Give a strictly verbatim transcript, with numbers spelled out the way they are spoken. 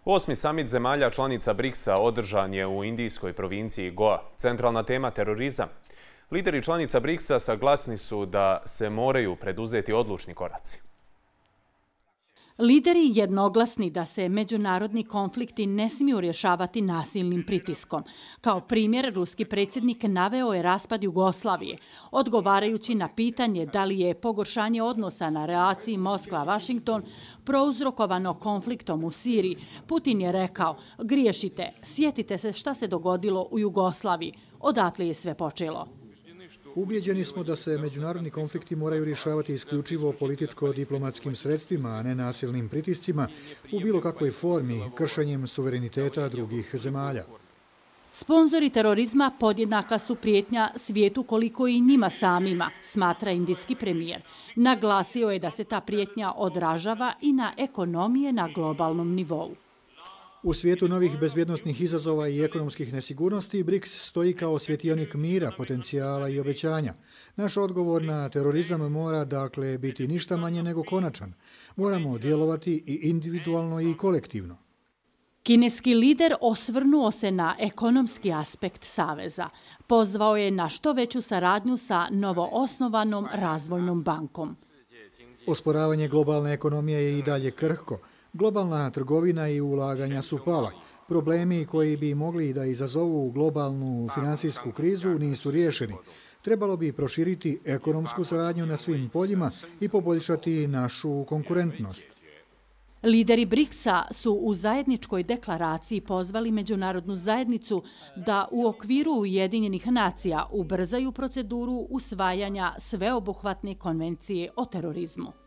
Osmi samit zemalja članica briksa održan je u indijskoj provinciji Goa. Centralna tema terorizam. Lideri članica briksa saglasni su da se moraju preduzeti odlučni koraci. Lideri jednoglasni da se međunarodni konflikti ne smiju rješavati nasilnim pritiskom. Kao primjer, ruski predsjednik naveo je raspad Jugoslavije, odgovarajući na pitanje da li je pogoršanje odnosa na relaciji Moskva-Vašington prouzrokovano konfliktom u Siriji. Putin je rekao: "Griješite, sjetite se šta se dogodilo u Jugoslaviji, odatle je sve počelo." Ubijeđeni smo da se međunarodni konflikti moraju rješavati isključivo političko-diplomatskim sredstvima, a ne nasilnim pritiscima u bilo kakvoj formi, kršenjem suvereniteta drugih zemalja. Sponzori terorizma podjednaka su prijetnja svijetu koliko i njima samima, smatra indijski premijer. Naglasio je da se ta prijetnja odražava i na ekonomije na globalnom nivou. U svijetu novih bezbjednosnih izazova i ekonomskih nesigurnosti, briks stoji kao svjetionik mira, potencijala i obećanja. Naš odgovor na terorizam mora dakle biti ništa manje nego konačan. Moramo djelovati i individualno i kolektivno. Kineski lider osvrnuo se na ekonomski aspekt saveza. Pozvao je na što veću saradnju sa novoosnovanom razvojnom bankom. Osporavanje globalne ekonomije je i dalje krhko. Globalna trgovina i ulaganja su pala. Problemi koji bi mogli da izazovu globalnu finansijsku krizu nisu riješeni. Trebalo bi proširiti ekonomsku saradnju na svim poljima i poboljšati našu konkurentnost. Lideri briksa su u zajedničkoj deklaraciji pozvali međunarodnu zajednicu da u okviru Ujedinjenih nacija ubrzaju proceduru usvajanja sveobuhvatne konvencije o terorizmu.